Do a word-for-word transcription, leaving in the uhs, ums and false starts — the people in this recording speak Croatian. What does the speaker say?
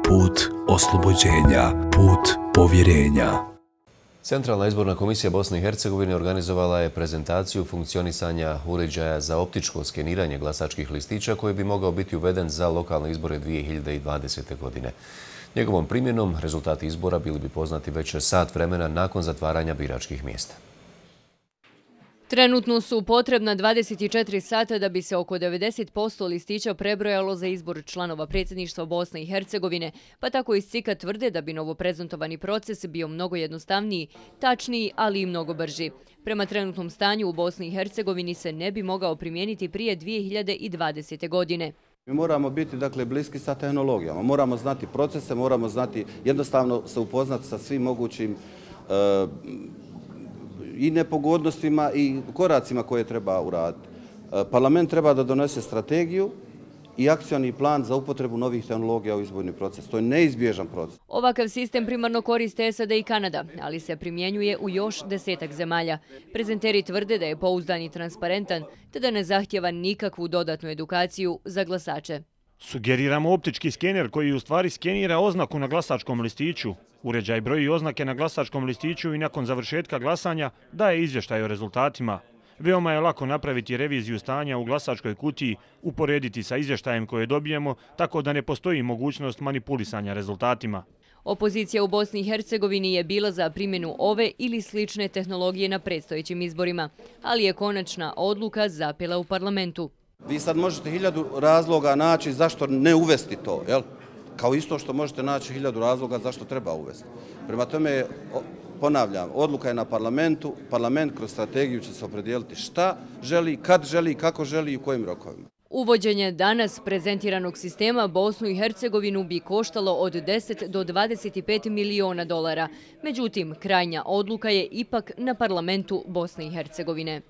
put oslobođenja, put povjerenja. Centralna izborna komisija Bosne i Hercegovine organizovala je prezentaciju funkcionisanja uređaja za optičko skeniranje glasačkih listića koji bi mogao biti uveden za lokalne izbore dvije hiljade dvadesete. godine. Njegovom primjenom rezultati izbora bili bi poznati već sat vremena nakon zatvaranja biračkih mjesta. Trenutno su potrebna dvadeset četiri sata da bi se oko devedeset posto listića prebrojalo za izbor članova predsjedništva Bosne i Hercegovine, pa tako iz C I K-a tvrde da bi novoprezentovani proces bio mnogo jednostavniji, tačniji, ali i mnogo brži. Prema trenutnom stanju u Bosni i Hercegovini se ne bi mogao primijeniti prije dvije hiljade dvadesete. godine. Mi moramo biti dakle, bliski sa tehnologijama, moramo znati procese, moramo znati jednostavno se upoznati sa svim mogućim uh, i nepogodnostima i koracima koje treba uraditi. Parlament treba da donese strategiju i akcioni plan za upotrebu novih tehnologija u izborni proces. To je neizbježan proces. Ovakav sistem primarno koriste S A D i Kanada, ali se primjenjuje u još desetak zemalja. Prezenteri tvrde da je pouzdan i transparentan, te da ne zahtjeva nikakvu dodatnu edukaciju za glasače. Sugeriramo optički skener koji u stvari skenira oznaku na glasačkom listiću. Uređaj broji oznake na glasačkom listiću i nakon završetka glasanja daje izvještaj o rezultatima. Veoma je lako napraviti reviziju stanja u glasačkoj kutiji, uporediti sa izvještajem koje dobijemo, tako da ne postoji mogućnost manipulisanja rezultatima. Opozicija u Bosni i Hercegovini je bila za primjenu ove ili slične tehnologije na predstojećim izborima, ali je konačna odluka zapela u parlamentu. Vi sad možete hiljadu razloga naći zašto ne uvesti to, jel? Kao isto što možete naći hiljadu razloga zašto treba uvesti. Prema tome, ponavljam, odluka je na parlamentu, parlament kroz strategiju će se opredijeliti šta želi, kad želi, kako želi i u kojim rokovima. Uvođenje danas prezentiranog sistema Bosnu i Hercegovinu bi koštalo od deset do dvadeset pet miliona dolara. Međutim, krajnja odluka je ipak na parlamentu Bosne i Hercegovine.